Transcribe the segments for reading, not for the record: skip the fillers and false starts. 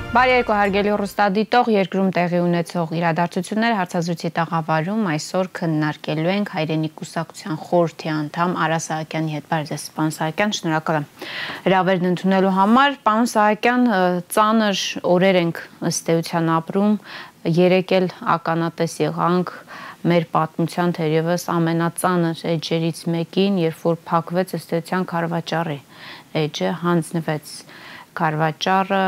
Բարի երկու հարգելի ռուստադիտող, երկրում տեղի ունեցող իրադարձությունները հարցազրույցի տաղավարում այսօր քննարկելու ենք հայրենի կուսակցության խորհրդի անդամ Արա Սահակյանի հետ։ Բարև ձեզ, պարոն Սահակյան, շնորհակալ եմ հրավերն ընդունելու համար։ Պարոն Սահակյան, ծանր օրեր ենք ըստ էության ապրում, երեկ էլ ականատես եղանք մեր պատմության թերևս ամենածանր էջերից մեկին, երբ որ փակվեց ըստ էության Քարվաճառի էջը, հանձնվեց Քարվաճառը,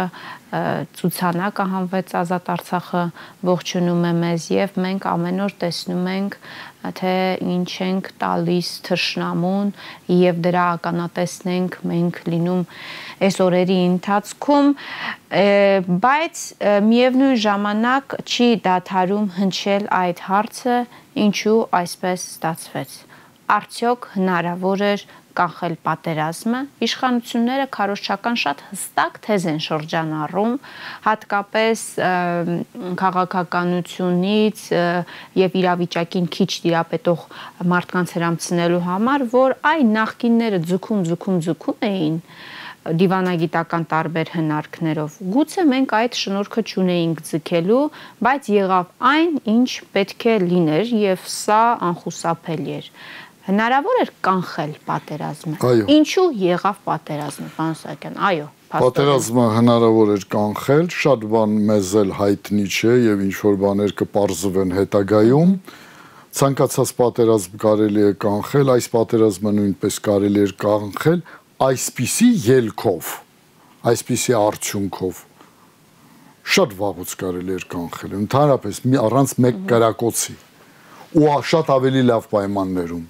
ցուցանակը հանվեց Ազատ Արցախը ողջունում է մեզ եւ մենք ամեն օր տեսնում ենք թե ինչ ենք տալիս թշնամուն եւ դրա ականատեսն ենք մենք լինում այս օրերի ընթացքում, բայց միևնույն ժամանակ չի դադարում հնչել այդ հարցը, ինչու այսպես ստացվեց։ Արդյոք հնարավոր էր կանխել պատերազմը, իշխանությունները քարոզչական շատ հստակ թեզ են շրջանառում, հատկապես քաղաքականությունից եւ իրավիճակին քիչ տիրապետող մարդկանց հրամցնելու համար, որ այն նախկինները ձգում էին դիվանագիտական տարբեր հնարքներով։ Գուցե մենք այդ շնորհքը չունեինք ձգելու, բայց եղավ այն, ինչ պետք է լիներ եւ սա անխուսափելի էր։ Հնարավոր էր կանխել պատերազմը։ Ինչու եղավ պատերազմը, պարոն Սահակյան։ Այո, պատերազմը հնարավոր էր կանխել, շատ բան մեզ էլ հայտնի չէ եւ ինչ որ բաներ կպարզվեն հետագայում։ Ցանկացած պատերազմ կարելի է կանխել, այս պատերազմը նույնպես կարելի էր կանխել այսպիսի ելքով, այսպիսի արդյունքով։ Շատ վաղուց կարելի էր կանխել, ընդհանրապես առանց մեկ կրակոցի ու շատ ավելի լավ պայմաններում։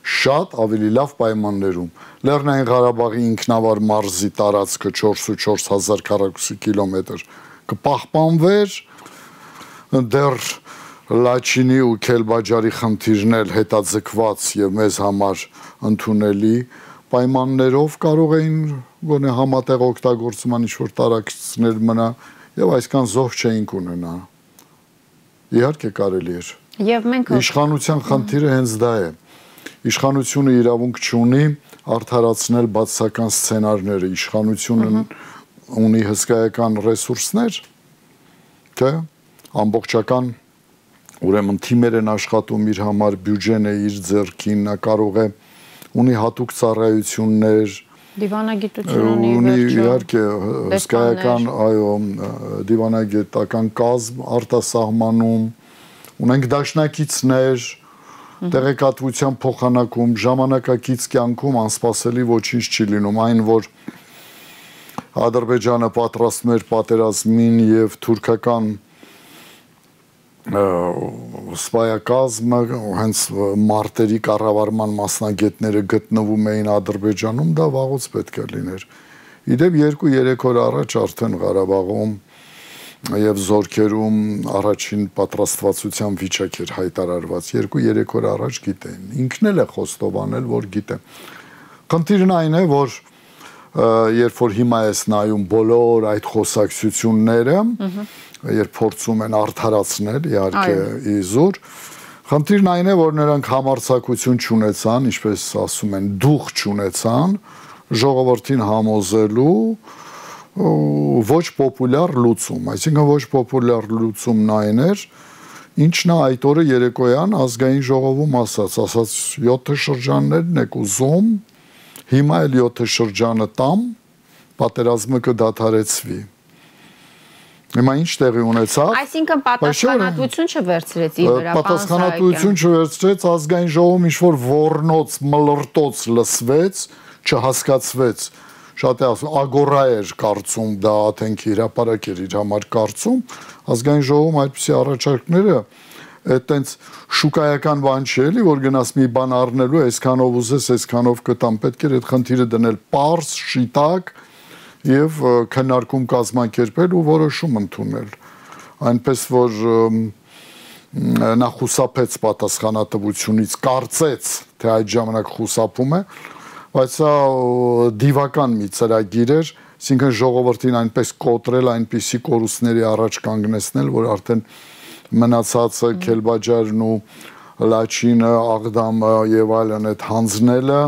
Շատ ավելի լավ պայմաններում։ Լեռնային Ղարաբաղի ինքնավար մարզի տարածքը 44000 քառակուսի կիլոմետր կպահպանվեր, դեռ Լաչինի ու Քելբաջարի խնդիրն էլ հետաձգված եւ մեզ համար ընդունելի պայմաններով կարող էին գոնե համատեղ օգտագործման ինչ-որ տարածքներ մնա եւ այսքան զոհ չէինք ունենա։ Իհարկե կարելի էր։ Եվ մենք իշխանության խնդիրը հենց դա է։ Իշխանությունը իրավունք չունի արդարացնել բացասական սցենարները, իշխանությունը ունի հսկայական ռեսուրսներ, թե ամբողջական ուրեմն թիմեր են աշխատում իր համար, բյուջեն է իր ձեռքին, նա կարող է ունի հատուկ ծառայություններ, դիվանագիտություն ունի իհարկե հսկայական, այո, դիվանագիտական կազմ արտասահմանում, ունենք դաշնակիցներ, տեղեկատվության փոխանակում, ժամանակակից կյանքում անսպասելի ոչինչ չի լինում, այն որ Ադրբեջանը պատրաստում էր պատերազմին եւ թուրքական սպայակազմը հենց մարտերի կառավարման մասնագետները գտնվում էին Ադրբեջանում, դա վաղուց պետք է լիներ։ Իդեպ 2-3 օր առաջ արդեն Ղարաբաղում եւ զորքերում առաջին պատրաստվածության վիճակ էր հայտարարված 2-3 օր առաջ գիտեն ինքն էլ է խոստովանել որ գիտե խնդիրն այն է որ երբ որ հիմա էս նայում բոլոր այդ խոսակցությունները երբ փորձում են արդարացնել իհարկե իզուր խնդիրն այն է որ նրանք համարձակություն չունեցան ինչպես ասում են դուխ չունեցան ժողովրդին համոզելու ոչ պոպուլյար լուծում, այսինքն ոչ պոպուլյար լուծումն այն էր, ինչն է այդ օրը երեկոյան ազգային ժողովում ասաց 7 շրջաններն եք ուզում, հիմա էլ 7 շրջանը տամ, պատերազմը կդադարեցվի։ Հիմա ինչ տեղի ունեցավ։ Այսինքն պատասխանատվություն չվերցրեց իր վրա, պատասխանատվություն չվերցրեց, ազգային ժողովում ինչ-որ ոռնոց, մլրտոց լսվեց, չհասկացվեց։ Շատ է ասում, ագորա էր կարծում, դա աթենքի հրապարակ էր իր համար կարծում, ազգային ժողովում այդպիսի առաջարկները, այդտենց շուկայական բան չի էլի, որ գնաս մի բան առնելու, այսքանով ուզես, այսքանով կտամ, պետք էր այդ խնդիրը դնել պարզ, շիտակ եւ քննարկում կազմակերպել ու որոշում ընդունել։ Այնպես որ նա խուսափեց պատասխանատվությունից, կարծեց, թե այդ ժամանակ խուսափում է, բայց սա դիվական մի ծրագիր էր, այսինքն ժողովրդին այնպես կոտրել, այնպիսի կորուստների առաջ կանգնեցնել, որ արդեն մնացածը Քելբաջարն ու Լաչինը, Աղդամը եւ այլն այդ հանձնելը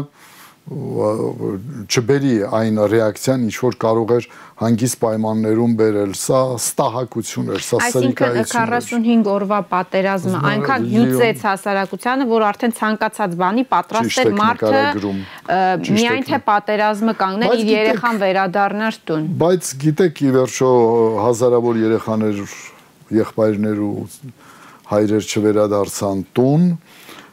չբերի այն ռեակցիան, ինչ որ կարող էր հանգիստ պայմաններում բերել, սա ստահակություն էր, սա սրիկայություն էր։ Այսինքն 45 օրվա պատերազմը այնքան հյուծեց հասարակությանը, որ արդեն ցանկացած բանի պատրաստ էր մարդը միայն թե պատերազմը կանգներ, իր երեխան վերադառնար տուն։ Բայց գիտեք, ի վերջո հազարավոր երեխաներ, եղբայրներ ու հայրեր չվերադարձան տուն,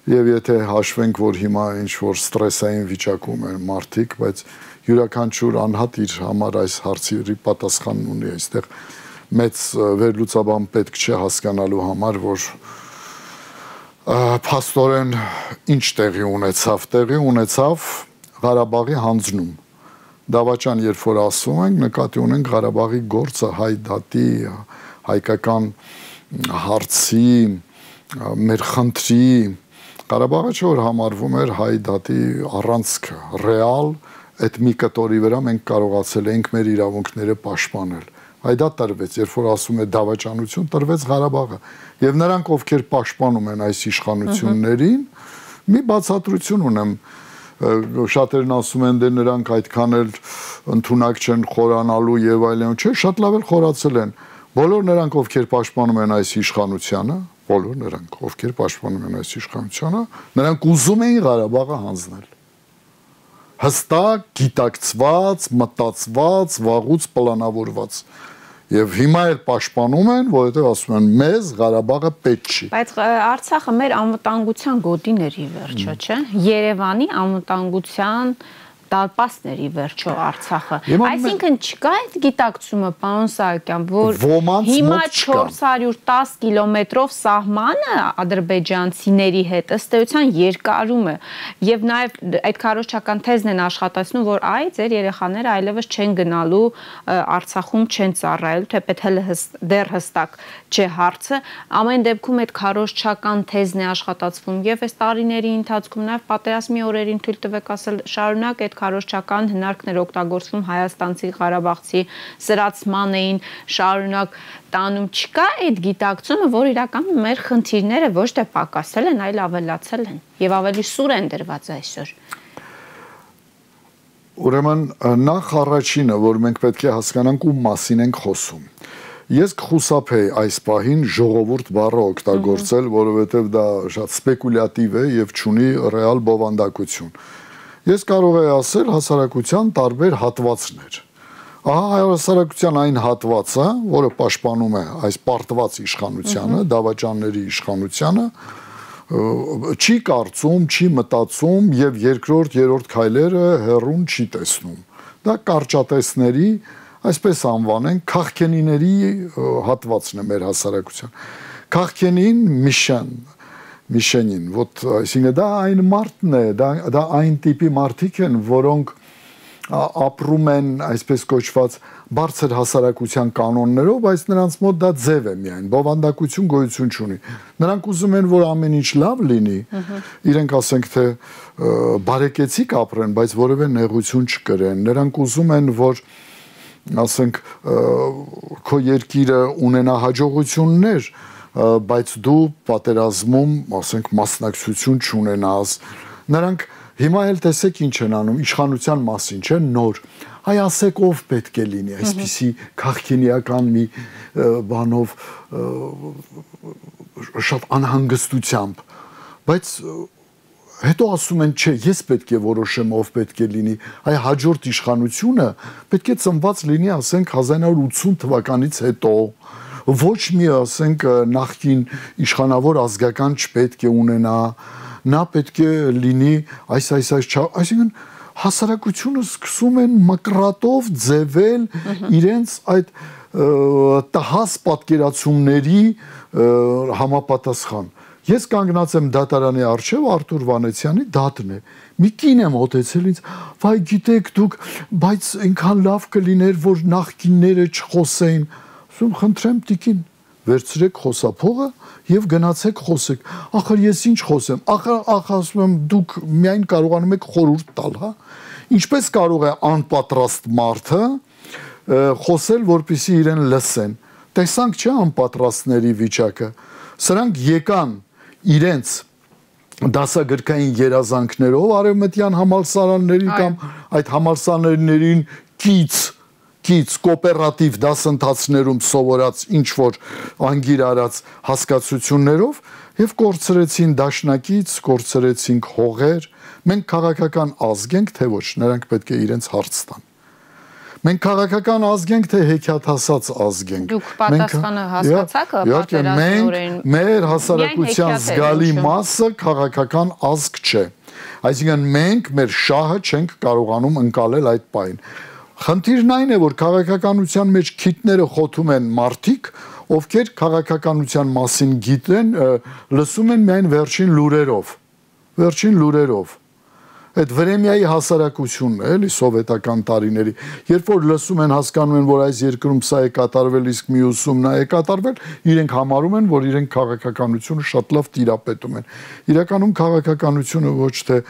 եւ եթե հաշվենք, որ հիմա ինչ որ ստրեսային վիճակում են մարդիկ, բայց յուրաքանչյուր անհատ իր համար այս հարցի պատասխանն ունի, այստեղ մեծ վերլուծաբան պետք չէ հասկանալու համար, որ փաստորեն ինչ տեղի ունեցավ Ղարաբաղի հանձնում։ Դավաճան, երբ որ ասում ենք, նկատի ունենք Ղարաբաղի գործը հայ դատի, հայկական հարցի, մեր խնդրի Ղարաբաղը չէ որ համարվում էր հայ դատի առանցքը, ռեալ այդ մի կտորի վրա մենք կարողացել ենք մեր իրավունքները պաշտպանել։ Հայ դա տրվեց, երբ որ ասում է դավաճանություն, տրվեց Ղարաբաղը։ Եվ նրանք, ովքեր պաշտպանում են այս իշխանություններին, մի բացատրություն ունեմ, շատերն ասում են, դե նրանք այդքան էլ ընդունակ չեն խորանալու եւ այլն, չէ, շատ լավ էլ խորացել են։ Բոլոր նրանք, ովքեր պաշտպանում են այս իշխանությանը, բոլոր նրանք, ովքեր պաշտպանում են այս իշխանությանը, նրանք ուզում էին Ղարաբաղը հանձնել։ Հստակ, գիտակցված, մտածված, վաղուց պլանավորված։ Եվ հիմա էլ պաշտպանում են, որովհետև ասում են մեզ Ղարաբաղը պետք չի։ Բայց Արցախը մեր անվտանգության գոտին էր ի վերջո, չէ՞։ Երևանի անվտանգության դարպասների վերջո Արցախը։ Այսինքն չկա այդ գիտակցումը, պարոն Սահակյան, որ հիմա 410 կիլոմետրով սահմանը ադրբեջանցիների հետ ըստ էության երկարում է եւ նաեւ այդ քարոզչական թեզն են աշխատացնում, որ այ ձեր երեխաները այլևս չեն գնալու Արցախում չեն ծառայելու, թեպետ հələ դեռ հստակ չէ հարցը, ամեն դեպքում այդ քարոզչական թեզն է աշխատացվում եւ այս տարիների ընթացքում նաեւ պատերազմի օրերին թույլ տվեք ասել շարունակ այդ քարոզչական հնարքներ օգտագործվում հայաստանցի, ղարաբաղցի սրացման էին շարունակ տանում, չկա այդ գիտակցումը, որ իրականում մեր խնդիրները ոչ թե պակասել են, այլ ավելացել են եւ ավելի սուր են դրված այսօր։ Ուրեմն նախ առաջինը, որ մենք պետք է հասկանանք ում մասին ենք խոսում։ Ես կխուսափեի այս պահին ժողովուրդ բառը օգտագործել, որովհետև դա շատ սպեկուլյատիվ է եւ չունի ռեալ բովանդակություն։ Ես կարող եմ ասել հասարակության տարբեր հատվածներ։ Ահա հասարակության այն հատվածը, որը պաշտպանում է այս պարտված իշխանությանը, դավաճանների իշխանությանը, չի կարծում, չի մտածում եւ երկրորդ, երրորդ քայլերը հեռուն չի տեսնում։ Դա կարճատեսների, այսպես անվանենք, քաղքենիների հատվածն է մեր հասարակության։ Քաղքենին Միշենին, вот, այսինքն դա այն մարդն է, դա այն տիպի մարդիկ են, որոնք ապրում են, այսպես կոչված, բարձր հասարակության կանոններով, բայց նրանց մոտ դա ձև է միայն, բովանդակություն գոյություն չունի։ Նրանք ուզում են, որ ամեն ինչ լավ լինի, իրենք ասենք թե բարեկեցիկ ապրեն, բայց որևէ նեղություն չկրեն։ Նրանք ուզում են, որ ասենք քո երկիրը ունենա հաջողություններ, բայց դու պատերազմում, ասենք, մասնակցություն չունենաս։ Նրանք հիմա էլ տեսեք ինչ են անում, իշխանության մասին, չէ՞, նոր։ Այ ասեք ով պետք է լինի, այսպիսի քաղաքենիական մի բանով շատ անհանգստությամբ, բայց հետո ասում են, չէ, ես պետք է որոշեմ ով պետք է լինի, այ հաջորդ իշխանությունը պետք է ծնված լինի, ասենք 1980 թվականից հետո, ոչ մի, ասենք, նախկին իշխանավոր ազգական չպետք է ունենա, նա պետք է լինի այսինքն հասարակությունը սկսում են մկրատով ձևել իրենց այդ տհաս պատկերացումների համապատասխան։ Ես կանգնած եմ դատարանի առջև Արթուր Վանեցյանի դատն է։ Մի կին եմ մոտեցել ինձ, վայ գիտեք դուք, բայց այնքան լավ կլիներ, որ նախկինները չխոսեին։ Ասում խնդրեմ տիկին, վերցրեք խոսափողը եւ գնացեք խոսեք։ Ախր ես ինչ խոսեմ։ Ախր ասում եմ դուք միայն կարողանում եք խորհուրդ տալ, հա։ Ինչպես կարող է անպատրաստ մարդը խոսել, որպեսզի իրեն լսեն։ Տեսանք չէ անպատրաստների վիճակը։ Սրանք եկան իրենց դասագրքային երազանքներով արևմտյան համալսարանների կամ այդ համալսարաններին կից կոոպերատիվ դասընթացներում սովորած ինչ որ անգիր արած հասկացություններով եւ կորցրեցին դաշնակից, կորցրեցինք հողեր, մենք քաղաքական ազգ ենք, թե ոչ, նրանք պետք է իրենց հարց տան։ Մենք քաղաքական ազգ ենք, թե հեքիաթասաց ազգ ենք։ Դուք պատասխանը հասկացաք պատերազմորեն։ Մեր հասարակության զգալի մասը քաղաքական ազգ չէ։ Այսինքն մենք մեր շահը չենք կարողանում ընկալել այդ պայն։ Խնդիրն այն է, որ քաղաքականության մեջ քիթները խոթում են մարդիկ, ովքեր քաղաքականության մասին գիտեն, լսում են միայն վերջին լուրերով։ Այդ Վրեմիայի հասարակությունն է, էլի սովետական տարիների, երբ որ լսում են, հասկանում են, որ այս երկրում սա է կատարվել, իսկ մյուսում նա է կատարվել, իրենք համարում են, որ իրենք քաղաքականությունը շատ լավ տիրապետում են։ Իրականում քաղաքականությունը ոչ թե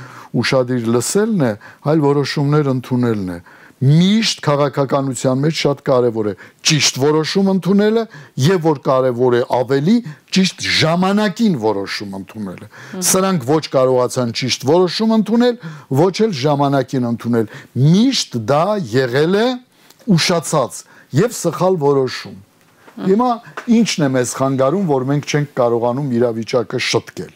ուշադիր լսելն է, այլ որոշումներ ընդունելն է։ Միշտ քաղաքականության մեջ շատ կարևոր է ճիշտ որոշում ընդունելը եւ որ կարևոր է ավելի ճիշտ ժամանակին որոշում ընդունելը։ Սրանք ոչ կարողացան ճիշտ որոշում ընդունել, ոչ էլ ժամանակին ընդունել։ Միշտ դա եղել է ուշացած եւ սխալ որոշում։ Հիմա ինչն է մեզ խանգարում, որ մենք չենք կարողանում իրավիճակը շտկել։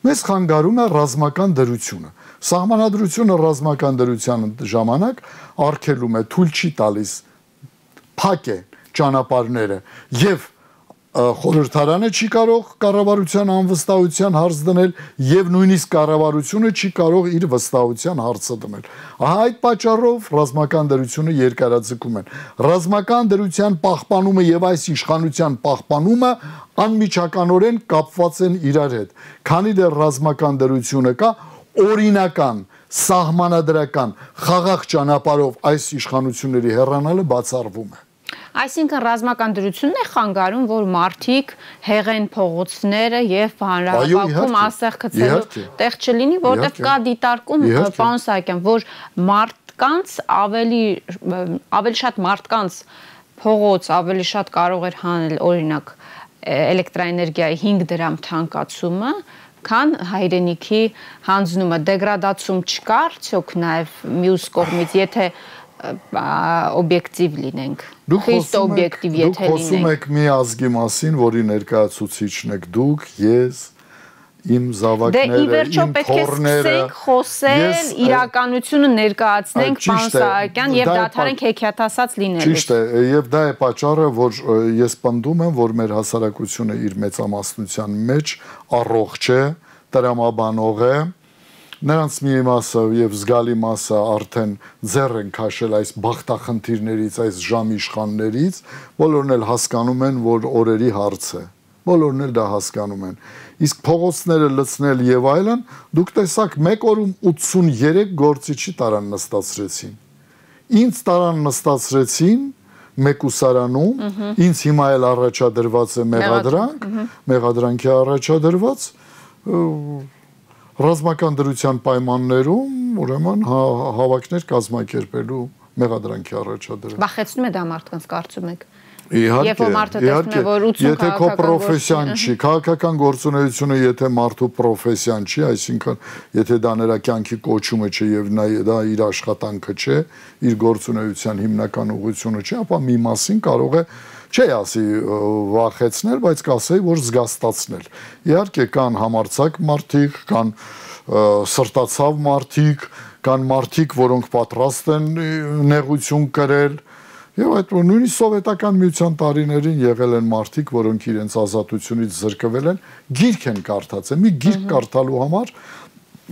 Մեզ խանգարում է ռազմական դրությունը։ Սահմանադրությունը ռազմական դրության ժամանակ արգելում է, թույլ չի տալիս, փակ է ճանապարհները եւ խորհրդարանը չի կարող կառավարության անվստահության հարց դնել եւ նույնիսկ կառավարությունը չի կարող իր վստահության հարցը դնել։ Ահա այդ պատճառով ռազմական դրությունը երկարաձգում են։ Ռազմական դրության պահպանումը եւ այս իշխանության պահպանումը անմիջականորեն կապված են իրար հետ։ Քանի դեռ ռազմական դրությունը կա, օրինական, սահմանադրական, խաղաղ ճանապարհով այս իշխանությունների հեռանալը բացառվում է։ Այսինքն ռազմական դրությունն է խանգարում, որ մարդիկ հեղեն փողոցները եւ հանրահավաքում ասեղ գցելու տեղ չլինի, որտեղ կա դիտարկում, պարոն Սահակյան, որ մարդկանց ավելի շատ մարդկանց փողոց ավելի շատ կարող էր հանել, օրինակ, էլեկտրաէներգիայի 5 դրամ թանկացումը, քան հայրենիքի հանձնումը, դեգրադացում չկա արդյոք նաև մյուս կողմից, եթե օբյեկտիվ լինենք, խիստ օբյեկտիվ եթե լինենք։ Դուք խոսում եք մի ազգի մասին, որի ներկայացուցիչն եք դուք, ես, իմ զավակները, իմ թոռները։ Դե ի վերջո պետք է սկսենք խոսել, իրականությունը ներկայացնենք, պարոն Սահակյան, եւ դադարենք հեքիաթասաց լինելուց։ Ճիշտ է, եւ դա է պատճառը, որ ես պնդում եմ, որ մեր հասարակությունը իր մեծամասնության մեջ առողջ է, տրամաբանող է, նրանց մի մասը եւ զգալի մասը արդեն ձեռ են քաշել այս բախտախնդիրներից, այս ժամիշխաններից, բոլորն էլ հասկանում են, որ օրերի հարց է։ Բոլորն էլ դա հասկանում են։ Իսկ փողոցները լցնել եւ այլն, դուք տեսաք 1 օրում 83 գործիչի տարան նստացրեցին։ Ինձ տարան նստացրեցին մեկուսարանում, ինձ հիմա էլ առաջադրված է մեղադրանքի առաջադրված ռազմական դրության պայմաններում, ուրեմն հավաքներ կազմակերպելու մեղադրանքի առաջադրել։ Վախեցնում է դա մարդկանց, կարծում եք։ Իհարկե, եթե քո պրոֆեսիան չի, քաղաքական գործունեությունը եթե մարդու պրոֆեսիան չի, այսինքն եթե դա նրա կյանքի կոչումը չէ եւ դա իր աշխատանքը չէ, իր գործունեության հիմնական ուղղությունը չէ, ապա մի մասին կարող է չի ասի վախեցնել, բայց կասեի, որ զգաստացնել։ Իհարկե կան համարձակ մարդիկ, կան սրտացավ մարդիկ, կան մարդիկ, որոնք պատրաստ են նեղություն կրել, եւ այդ նույնիսկ սովետական միության տարիներին եղել են մարդիկ, որոնք իրենց ազատությունից զրկվել են, գիրք են կարդացել, մի գիրք կարդալու համար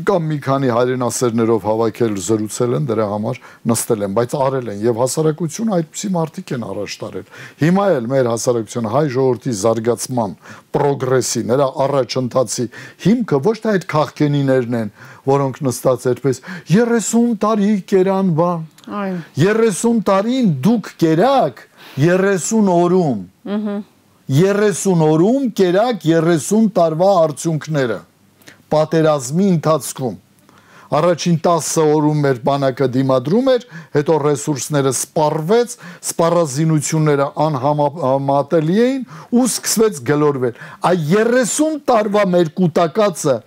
կամ մի քանի հայրենասերներով հավաքել, զրուցել են, դրա համար նստել են, բայց արել են եւ հասարակությունը այդպիսի մարդիկ են առաջ տարել։ Հիմա էլ մեր հասարակությունը հայ ժողովրդի զարգացման, պրոգրեսի, նրա առաջընթացի հիմքը ոչ թե այդ քաղաքենիներն են, որոնք նստած այդպես 30 տարի կերան բան։ 30 տարին դուք կերաք 30 օրում։ 30 օրում կերաք 30 տարվա արդյունքները։ Պատերազմի ընթացքում Առաջին 10 օրում մեր բանակը դիմադրում էր, հետո ռեսուրսները սպառվեց, սպառազինությունները անհամատելի էին ու սկսվեց գլորվել։ Այ 30 տարվա մեր կուտակածը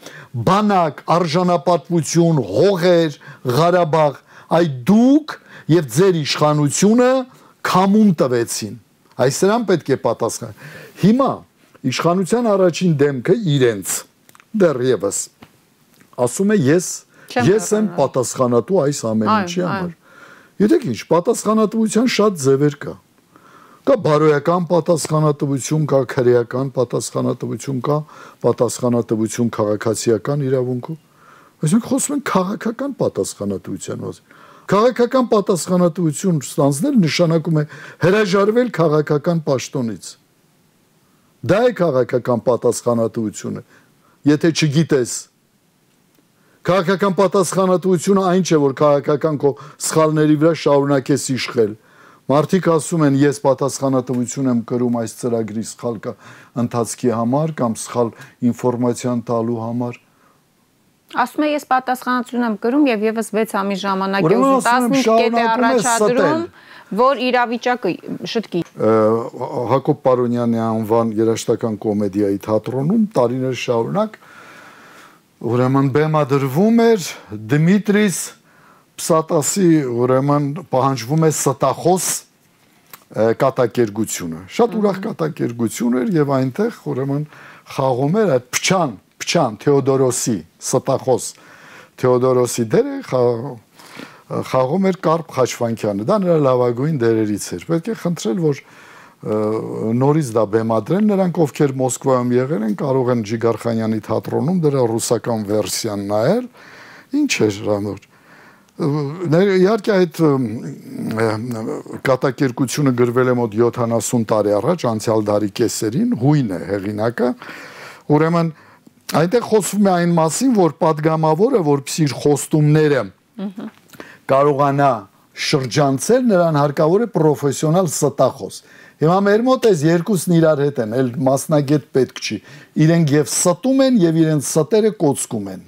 բանակ, արժանապատվություն, հողեր, Ղարաբաղ, այ դուք եւ ձեր իշխանությունը քամուն տվեցին։ Այս սրան պետք է պատասխան։ Հիմա իշխանության առաջին դեմքը իրենց դեռևս ասում է ես եմ պատասխանատու այս ամեն ինչի համար։ Գիտեք ինչ, պատասխանատվության շատ ձևեր կա։ Կա բարոյական պատասխանատվություն, կա քրեական պատասխանատվություն, կա պատասխանատվություն քաղաքացիական իրավունքով։ Այսինքն խոսում ենք քաղաքական պատասխանատվության մասին։ Քաղաքական պատասխանատվություն ստանձնել նշանակում է հրաժարվել քաղաքական պաշտոնից։ Դա է քաղաքական պատասխանատվությունը։ Եթե չգիտես, քաղաքական պատասխանատվությունը այն չէ, որ քաղաքական քո սխալների վրա շարունակես իշխել։ Մարդիկ ասում են, ես պատասխանատվություն եմ կրում այս ծրագրի սխալ ընթացքի համար կամ սխալ ինֆորմացիան տալու համար։ Ասում է, ես պատասխանատվություն եմ կրում եւ եւս 6 ամիս ժամանակ է ուզում 15 կետ է առաջադրում, որ իրավիճակը շտկի։ Հակոբ Պարոնյանի անվան երաժշտական կոմեդիայի թատրոնում տարիներ շարունակ ուրեմն բեմադրվում էր Դմիտրիս Պսատասի ուրեմն պահանջվում է ստախոս կատակերգությունը։ Շատ ուրախ կատակերգություն էր եւ այնտեղ ուրեմն խաղում էր այդ Փչան Թեոդորոսի ստախոս Թեոդորոսի դերը խաղում էր Կարպ Խաչվանքյանը։ Դա նրա լավագույն դերերից էր։ Պետք է խնդրել, որ նորից դա բեմադրեն, նրանք ովքեր Մոսկվայում եղել են, կարող են Ջիգարխանյանի թատրոնում դրա ռուսական վերսիան նայել։ Ինչ էր հրանոր։ Իհարկե այդ կատակերգությունը գրվել է մոտ 70 տարի առաջ, անցյալ դարի կեսերին, հույն է հեղինակը։ Ուրեմն այնտեղ խոսվում է այն մասին, որ падգամավորը, որպեսզի իր խոստումները կարողանա շրջանցել, նրան հարկավոր է պրոֆեսիոնալ ստախոս։ Հիմա մեր մոտ էս երկուսն իրար հետ են, էլ մասնագետ պետք չի։ Իրենք եւ ստում են եւ իրենց ստերը կոծկում են։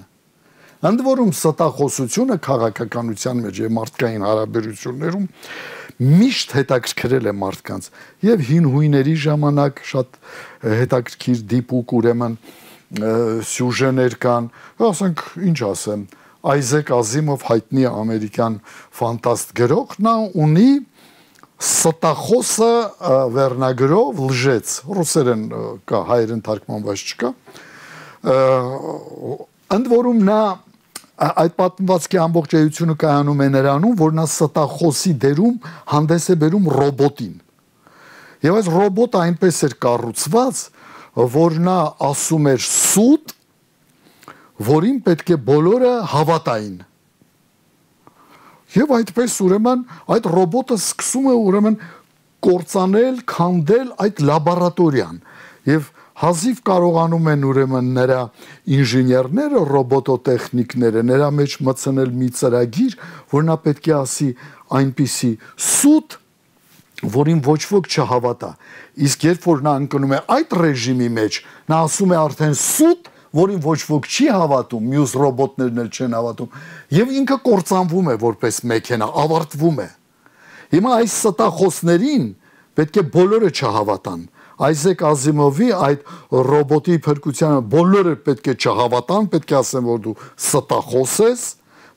Ընդ որում ստախոսությունը քաղաքականության մեջ եւ մարդկային հարաբերություններում միշտ հետաքրքրել է մարդկանց եւ հին հույների ժամանակ շատ հետաքրքիր դիպուկ ուրեմն սյուժեներ կան, ասենք ինչ ասեմ, Այզեք Ազիմով հայտնի ամերիկյան ֆանտաստ գրող, նա ունի ստախոսը վերնագրով լժեց, ռուսերեն կա, հայերեն թարգմանված չկա, ընդ որում նա այդ պատմվածքի ամբողջ էությունը կայանում է նրանում, որ նա ստախոսի դերում հանդես է բերում ռոբոտին։ Եվ այս ռոբոտը այնպես էր կառուցված, որ նա ասում էր սուտ, որին պետք է բոլորը հավատային։ Եվ այդպես ուրեմն այդ ռոբոտը սկսում է ուրեմն կործանել, քանդել այդ լաբորատորիան։ Եվ հազիվ կարողանում են ուրեմն նրա ինժեներները, ռոբոտոտեխնիկները նրա մեջ մտցնել մի ծրագիր, որ նա պետք է ասի այնպիսի սուտ, որին ոչ ոք չհավատա։ Իսկ երբ որ նա ընկնում է այդ ռեժիմի մեջ, նա ասում է արդեն սուտ, որին ոչ ոք չի հավատում, մյուս ռոբոտներն էլ չեն հավատում, եւ ինքը կործանվում է որպես մեքենա, ավարտվում է։ Հիմա այս ստախոսներին պետք է բոլորը չհավատան։ Այզեք Ազիմովի այդ ռոբոտի փրկությանը բոլորը պետք է չհավատան, պետք է ասեն, որ դու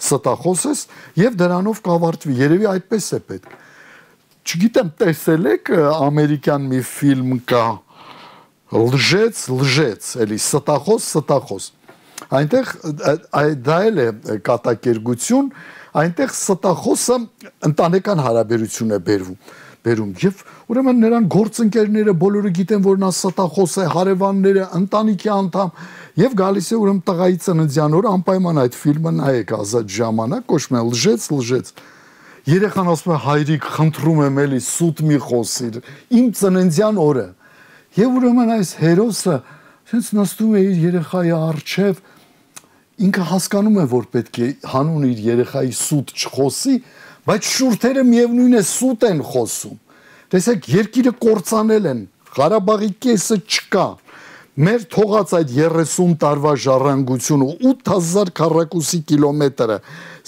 ստախոս ես, եւ դրանով կավարտվի։ Երևի այդպես է պետք։ Չգիտեմ, տեսել եք ամերիկյան մի ֆիլմ կա լժեց, էլի ստախոս։ Այնտեղ դա էլ է կատակերգություն, այնտեղ ստախոսը ընտանեկան հարաբերություն է բերում եւ ուրեմն նրան գործընկերները բոլորը գիտեն, որ նա ստախոս է, հարևանները, ընտանիքի անդամ եւ գալիս է ուրեմն տղայի ծննդյան օրը անպայման այդ ֆիլմը նայեք ազատ ժամանակ, կոչվում է լժեց։ Երեխան ասում է հայրիկ, խնդրում եմ էլի սուտ մի խոսիր, իմ ծննդյան օրը։ Եվ ուրեմն այս հերոսը sense նստում է իր երեխայի առջև, ինքը հասկանում է, որ պետք է հանուն իր երեխայի սուտ չխոսի, բայց շուրթերը միևնույն է սուտ են խոսում։ Տեսեք, երկիրը կործանել են, Ղարաբաղի կեսը չկա։ Մեր թողած այդ 30 տարվա ժառանգությունը 8000 քառակուսի կիլոմետրը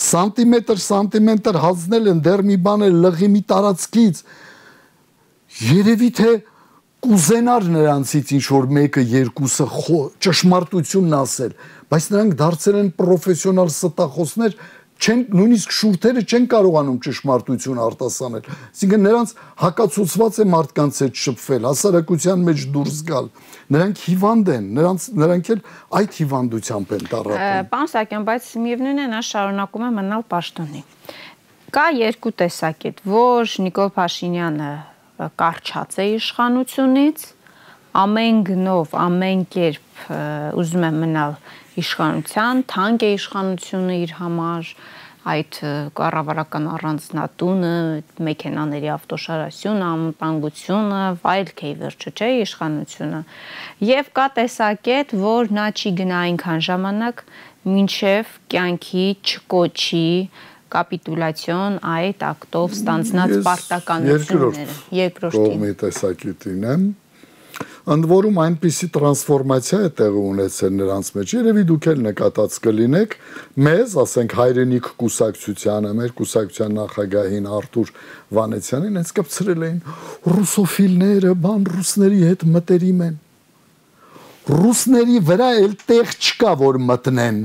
սանտիմետր հանձնել են դեռ մի բան է լղի մի տարածքից երևի թե կուզենար նրանցից ինչ որ մեկը երկուսը ճշմարտությունն ասել բայց նրանք դարձել են պրոֆեսիոնալ ստախոսներ չեն նույնիսկ շուրթերը չեն կարողանում ճշմարտություն արտասանել այսինքն նրանց հակացուցված է մարդկանց հետ շփվել հասարակության մեջ դուրս գալ նրանք հիվանդ են նրանք էլ այդ հիվանդությամբ են տառապում Պարոն Սահակյան բայց միևնույն է նա շարունակում է մնալ պաշտոնի կա երկու տեսակետ որ Նիկոլ Փաշինյանը կարճած է իշխանությունից ամեն գնով ամեն կերպ ուզում է մնալ իշխանության, թանկ է իշխանությունը իր համար, այդ կառավարական առանձնատունը, մեքենաների ավտոշարասյունը, անվտանգությունը, վայելք է վերջը չէ իշխանությունը։ Եվ կա տեսակետ, որ նա չի գնա այնքան ժամանակ, մինչև կյանքի չկոչի կապիտուլյացիոն այդ ակտով ստանձնած պարտականությունները։ Երկրորդ տեսակետին եմ ընդ որում այնպիսի տրանսֆորմացիա է տեղի ունեցել նրանց մեջ երևի դուք էլ նկատած կլինեք մեզ ասենք հայրենիք կուսակցությանը մեր կուսակցության նախագահին Արթուր Վանեցյանին հենց կպցրել էին ռուսոֆիլները բան ռուսների հետ մտերիմ են ռուսների վրա էլ տեղ չկա որ մտնեն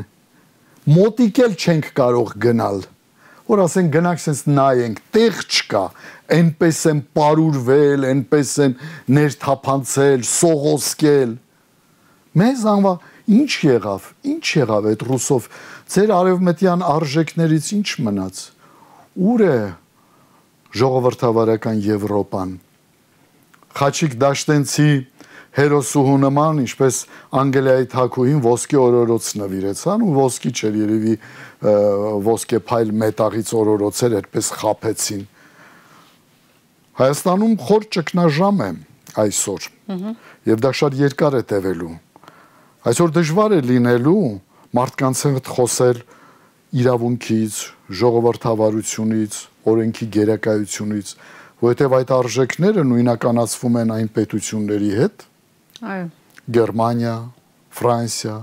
մոտիկ էլ չենք կարող գնալ որ ասենք գնանք sense նայենք տեղ չկա այնպես են պարուրվել այնպես են ներթափանցել սողոսկել մեզ անվա ինչ եղավ այդ ռուսով ձեր արևմտյան արժեքներից ինչ մնաց ուր է ժողովրդավարական Եվրոպան Խաչիկ Դաշտենցի հերոսուհու նման ինչպես Անգելիայի թագուհին ոսկե օրորոց նվիրեցան ու ոսկի չէր երևի ոսկե փայլ մետաղից օրորոցեր այդպես խափեցին Հայաստանում խոր ճգնաժամ է այսօր եւ դա շատ երկար է տևելու այսօր դժվար է լինելու մարդկանց հետ խոսել իրավունքից ժողովրդավարությունից օրենքի գերակայությունից որովհետեւ այդ արժեքները նույնականացվում են այն պետությունների հետ Այո Գերմանիա, Ֆրանսիա,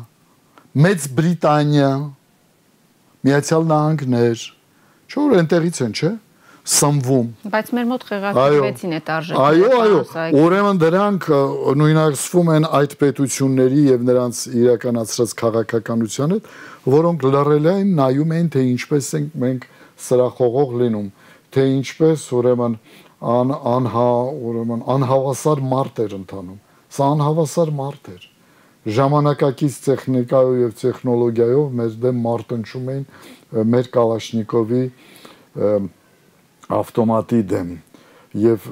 Մեծ Բրիտանիա, Միացյալ Նահանգներ, չէ՞ այնտեղից են, չէ՞, սնվում։ Բայց մեր մոտ խեղաթյուրեցին այդ արժեքները։ Այո, ուրեմն դրանք նույնացվում են այդ պետությունների եւ նրանց իրականացրած քաղաքականության հետ, որոնք լռել են, նայում են, թե ինչպես ենք մենք սրախողող լինում, թե ինչպես ուրեմն անհավասար մարդ էր ընթանում։ Սա անհավասար մարդ էր։ Ժամանակակից տեխնիկայով եւ տեխնոլոգիայով մեր դեմ մարտնչում էին մեր Կալաշնիկովի ավտոմատի դեմ եւ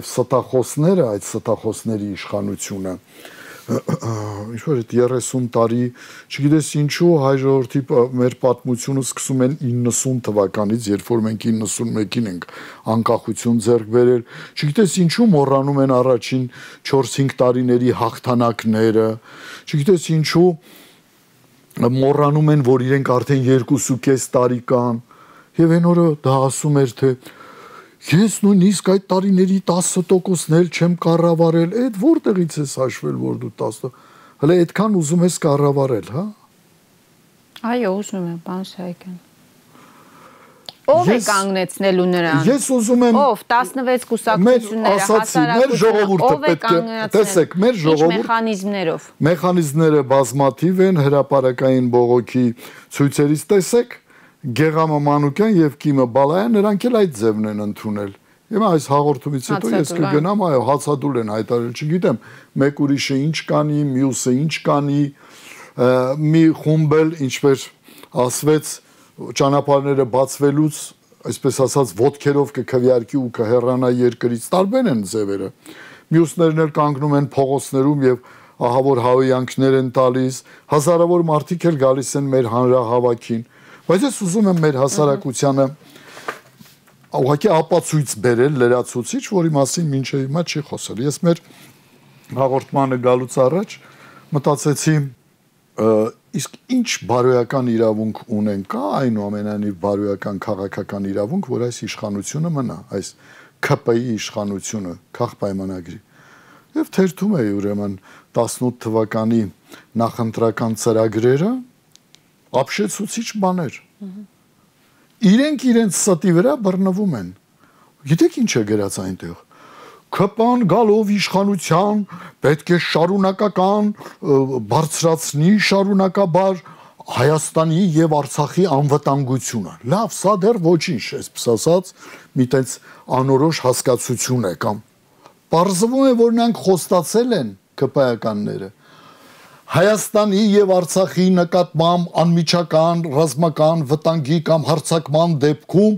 ստախոսները այդ ստախոսների իշխանությունը ինչ-որ այդ 30 տարի, չգիտես ինչու հայ ժողովրդի մեր պատմությունը սկսում են 90 թվականից, երբ որ մենք 91-ին ենք անկախություն ձեռք բերել, չգիտես ինչու մոռանում են առաջին 4-5 տարիների հաղթանակները, չգիտես ինչու մոռանում են, որ իրենք արդեն 2.5 տարի կան, եւ այն օրը դա ասում էր, թե Ես նույնիսկ այդ տարիների 10%-ն էլ չեմ կառավարել, այդ որտեղից ես հաշվել, որ դու 10%, հələ այդքան ուզում ես կառավարել, հա? Այո, ուզում եմ, պարոն Սահակյան։ Ո՞վ է կանգնեցնելու նրան։ Ես ուզում եմ Ո՞վ 16 կուսակցությունները, հասարակությունը, ո՞վ է կանգնեցնել։ Տեսեք, մեր ժողովուրդ մեխանիզմներով։ Մեխանիզմները բազմաթիվ են, հրապարակային բողոքի ցույցերից տեսեք Գեղամը Մանուկյան եւ Կիմը Բալայան նրանք էլ այդ ձևն են ընդունել։ Հիմա այս հաղորդումից հետո ես կգնամ, այո, հացադուլ են հայտարարել, չգիտեմ, մեկ ուրիշը ինչ կանի, մյուսը ինչ կանի, մի խումբ էլ ինչպես ասվեց, ճանապարհները բացվելուց, այսպես ասած, ոտքերով կքվյարկի ու կհեռանա երկրից, տարբեր են ձևերը։ Մյուսներն էլ կանգնում են փողոցներում եւ ահա որ հավայանքներ են տալիս, հազարավոր մարդիկ էլ գալիս են մեր հանրահավաքին։ Բայց ես ուզում եմ մեր հասարակությանը ուղղակի ապացույց բերել լրացուցիչ, որի մասին մինչև հիմա չի խոսել։ Ես մեր հաղորդմանը գալուց առաջ մտածեցի, իսկ ինչ բարոյական իրավունք ունեն, կա այնուամենայնիվ բարոյական քաղաքական իրավունք, որ այս իշխանությունը մնա, այս ՔՊ-ի իշխանությունը, քաղաքապայմանագրի։ եւ թերթում էի ուրեմն 18 թվականի նախընտրական ծրագրերը, ապշեցուցիչ բաներ։ Իրենք իրենց ստի վրա բռնվում են։ Գիտեք ինչ է գրած այնտեղ։ ԿՊ-ն գալով իշխանության պետք է շարունակական բարձրացնի շարունակաբար Հայաստանի եւ Արցախի անվտանգությունը։ Լավ, սա դեռ ոչինչ, այսպես ասած, մի տենց անորոշ հասկացություն է կամ պարզվում է, որ նրանք խոստացել են ԿՊ-ականները Հայաստանի եւ Արցախի նկատմամբ անմիջական ռազմական վտանգի կամ հարձակման դեպքում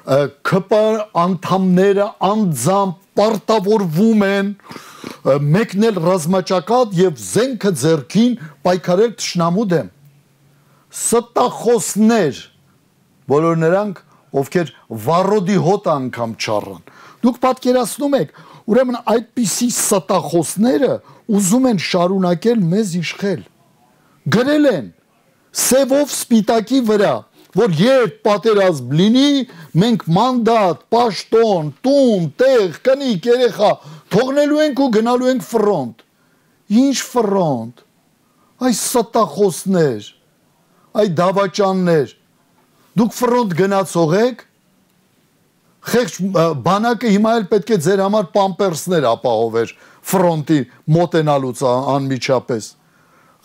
ԿՊ անդամները անձամբ պարտավորվում են մեկնել ռազմաճակատ եւ զենքը ձեռքին պայքարել թշնամու դեմ։ Ստախոսներ, բոլոր նրանք, ովքեր վառոդի հոտ անգամ չառան։ Դուք պատկերացնում եք, ուրեմն այդպիսի ստախոսները ուզում են շարունակել մեզ իշխել։ Գրել են սևով սպիտակի վրա, որ երբ պատերազմ լինի, մենք մանդատ, պաշտոն, տուն, տեղ, կնիկ, երեխա թողնելու ենք ու գնալու ենք ֆրոնտ։ Ինչ ֆրոնտ։ Այս ստախոսներ, այ դավաճաններ, դուք ֆրոնտ գնացող եք, խեղճ բանակը հիմա էլ պետք է ձեր համար պամպերսներ ապահովեր ֆրոնտի մոտենալուց անմիջապես։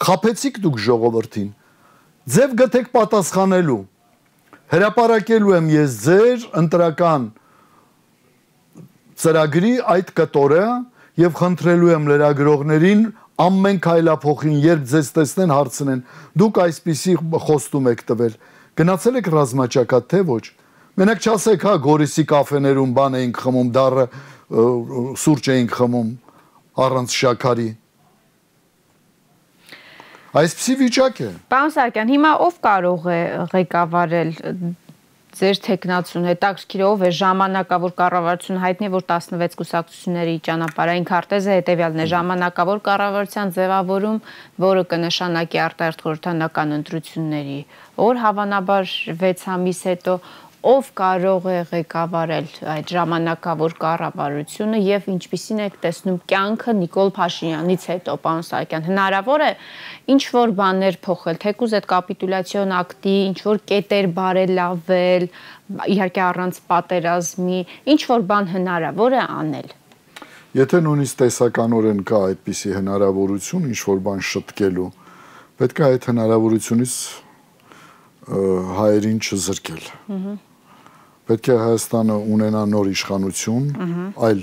Խաբեցիք դուք ժողովրդին, ձև գտեք պատասխանելու, հրապարակելու եմ ես ձեր ընտրական ծրագրի այդ կտորը եւ խնդրելու եմ լրագրողներին ամեն քայլափոխին, երբ ձեզ տեսնեն, հարցնեն, դուք այսպիսի խոստում եք տվել, գնացել եք ռազմաճակատ, թե ոչ։ Մենակ չասեք, հա, Գորիսի կաֆեներում բան էինք խմում, դառը սուրճ էինք խմում առանց շաքարի։ Այսպիսի վիճակ է։ Պարոն Սահակյան, հիմա ով կարող է ղեկավարել ձեր թեկնածուն, հետաքրքիր ով է ժամանակավոր կառավարությունը հայտնի է, որ 16 կուսակցությունների ճանապարհային քարտեզը հետևյալն է, ժամանակավոր կառավարության ձևավորում, որը կնշանակի արտահերթ խորհրդանական ընտրությունների օր, հավանաբար 6 ամիս հետո, ով կարող է ղեկավարել այդ ժամանակավոր կառավարությունը եւ ինչպիսին եք տեսնում կյանքը Նիկոլ Փաշինյանից հետո, պարոն Սահակյան, հնարավոր է ինչ որ բաներ փոխել, թեկուզ այդ կապիտուլյացիոն ակտի ինչ որ կետեր բարելավել, իհարկե առանց պատերազմի, ինչ որ բան հնարավոր է անել։ Եթե նույնիսկ տեսականորեն կա այդպիսի հնարավորություն ինչ որ բան շտկելու, պետք է այդ հնարավորությունից հայերին չզրկել։ Պետք է Հայաստանը ունենա նոր իշխանություն, այլ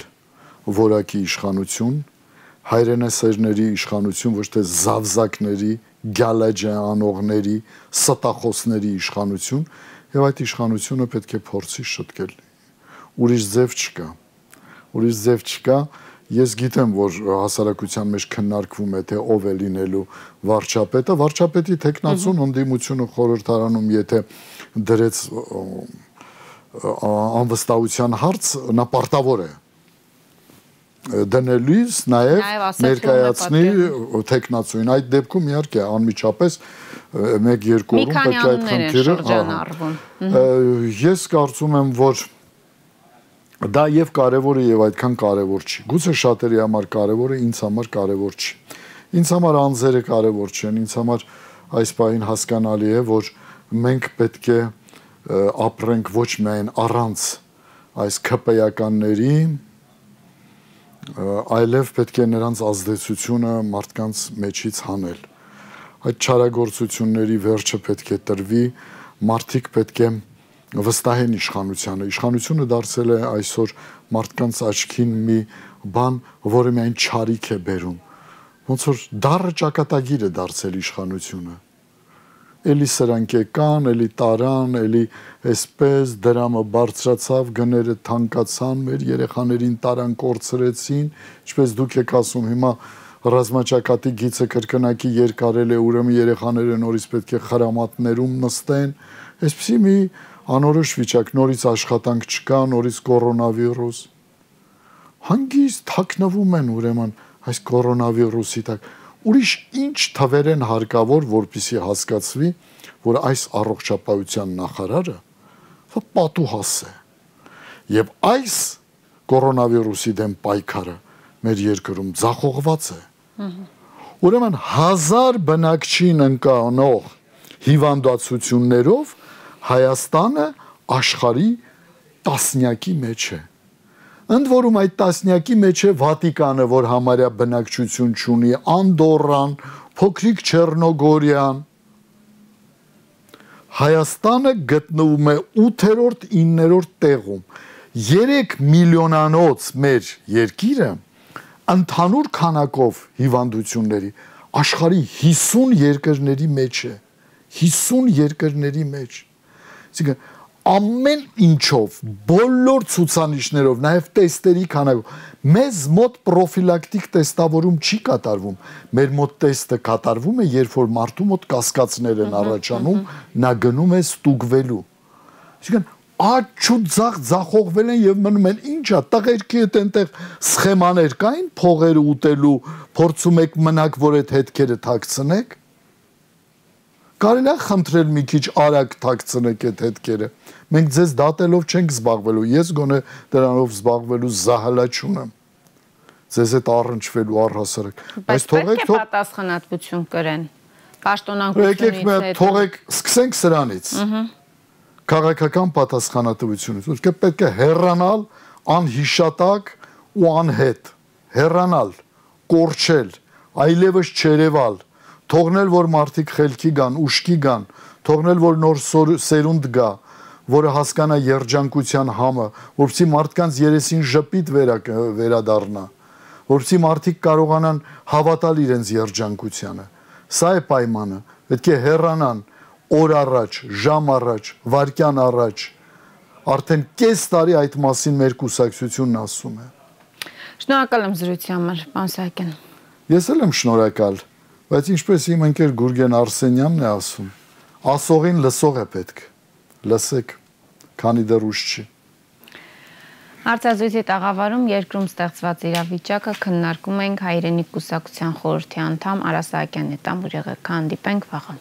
որակի իշխանություն, հայրենասերների իշխանություն, ոչ թե զավզակների, գալաջա անողների, ստախոսների իշխանություն, եւ այդ իշխանությունը պետք է փորձի շտկել։ Ուրիշ ձև չկա։ Ուրիշ ձև չկա։ Ես գիտեմ, որ հասարակության մեջ քննարկվում է, թե ով է լինելու վարչապետը, վարչապետի թեկնածուն ընդդիմությունը խորհրդարանում, եթե դրեց անվստահության հարց, նա պարտավոր է դնելիս նաև ներկայացնի թեկնածուին։ Այդ դեպքում իհարկե անմիջապես 1-2 օրում պետք է այդ խնդիրը։ Ես կարծում եմ, որ դա եւ կարեւոր է եւ այդքան կարեւոր չի։ Գուցե շատերի համար կարեւոր է, ինձ համար կարեւոր չի։ Ինձ համար անձերը կարեւոր չեն, ինձ համար այս պահին հասկանալի է, որ մենք պետք է ապրենք ոչ միայն առանց այս ԿՊ-ականների, այլև պետք է նրանց ազդեցությունը մարդկանց մեջից հանել։ Այդ չարագործությունների վերջը պետք է տրվի, մարդիկ պետք է վստահեն իշխանությանը։ Իշխանությունը դարձել է այսօր մարդկանց աչքին մի բան, որը միայն չարիք է բերում։ Ոնց որ դառը ճակատագիր է դարձել իշխանությունը։ Էլի սրանք եկան, էլի տարան, էլի այսպես դրամը բարձրացավ, գները թանկացան, մեր երեխաներին տարան կորցրեցին, ինչպես դուք եք ասում, հիմա ռազմաճակատի գիծը կրկնակի երկարել է, ուրեմն երեխաները նորից պետք է խրամատներում նստեն, այսպեսի մի անորոշ վիճակ, նորից աշխատանք չկա, նորից կորոնավիրուս։ Հանգիստ թաքնվում են ուրեմն այս կորոնավիրուսի տակ։ Ուրիշ ինչ թվեր են հարկավոր, որպեսզի հասկացվի, որ այս առողջապահության նախարարը պատուհաս է։ Եվ այս կորոնավիրուսի դեմ պայքարը մեր երկրում ձախողված է։ Ուրեմն 1000 բնակչին ընկանող հիվանդացություններով Հայաստանը աշխարհի տասնյակի մեջ է։ Ընդ որում այդ տասնյակի մեջ է Վատիկանը, որ համարյա բնակչություն չունի, Անդորրան, փոքրիկ Չեռնոգորիան։ Հայաստանը գտնվում է 8-րդ, 9-րդ տեղում։ 3 միլիոնանոց մեր երկիրը ընդհանուր քանակով հիվանդությունների աշխարհի 50 երկրների մեջ է, 50 երկրների մեջ։ Այսինքն ամեն ինչով, բոլոր ցուցանիշներով, նաև տեստերի քանակով, մեզ մոտ պրոֆիլակտիկ տեստավորում չի կատարվում։ Մեր մոտ տեստը կատարվում է, երբ որ մարդու մոտ կասկածներ են առաջանում, նա գնում է ստուգվելու։ Այսինքն աճ ու ձախողվել են եւ մնում են ինչա տղերքի հետ այնտեղ սխեմաներ կային փողերը ուտելու, փորձում եք մնաք, որ այդ հետքերը թաքցնեք։ Կարելի է խնդրել մի քիչ արագ թաքցնեք այդ հետքերը։ Մենք ձեզ դատելով չենք զբաղվելու, ես գոնե դրանով զբաղվելու զահալա չունեմ։ Ձեզ հետ առնչվելու առհասարակ։ Բայց թողեք պատասխանատվություն կրեն։ Պաշտոնանկությունից հետո։ Եկեք թողեք, սկսենք սրանից։ Քաղաքական պատասխանատվությունից։ Ուրեմն պետք է հեռանալ անհիշատակ ու անհետ, հեռանալ, կորչել, այլևս չերևալ, թողնել, որ մարդիկ խելքի գան, ուշքի գան, թողնել, որ նոր սերունդ գա, որը հասկանա երջանկության համը, որպեսզի մարդկանց երեսին ժպիտ վերադառնա, որպեսզի մարդիկ կարողանան հավատալ իրենց երջանկությանը։ Սա է պայմանը, պետք է հեռանան օր առաջ, ժամ առաջ, վայրկյան առաջ, արդեն կես տարի այդ մասին մեր կուսակցությունն ասում է։ Շնորհակալ եմ զրույցի համար, պարոն Սահակյան։ Ես էլ եմ շնորհակալ, բայց ինչպես իմ ընկեր Գուրգեն Արսենյանն է ասում, ասողին լսող է պետք, լսեք, քանի դեռ ուշ չի։ Հարցազրույցի տաղավարում երկրում ստեղծված իրավիճակը քննարկում ենք Հայրենիք կուսակցության խորհրդի անդամ Արա Սահակյանի հետ, հանդիպենք վաղը։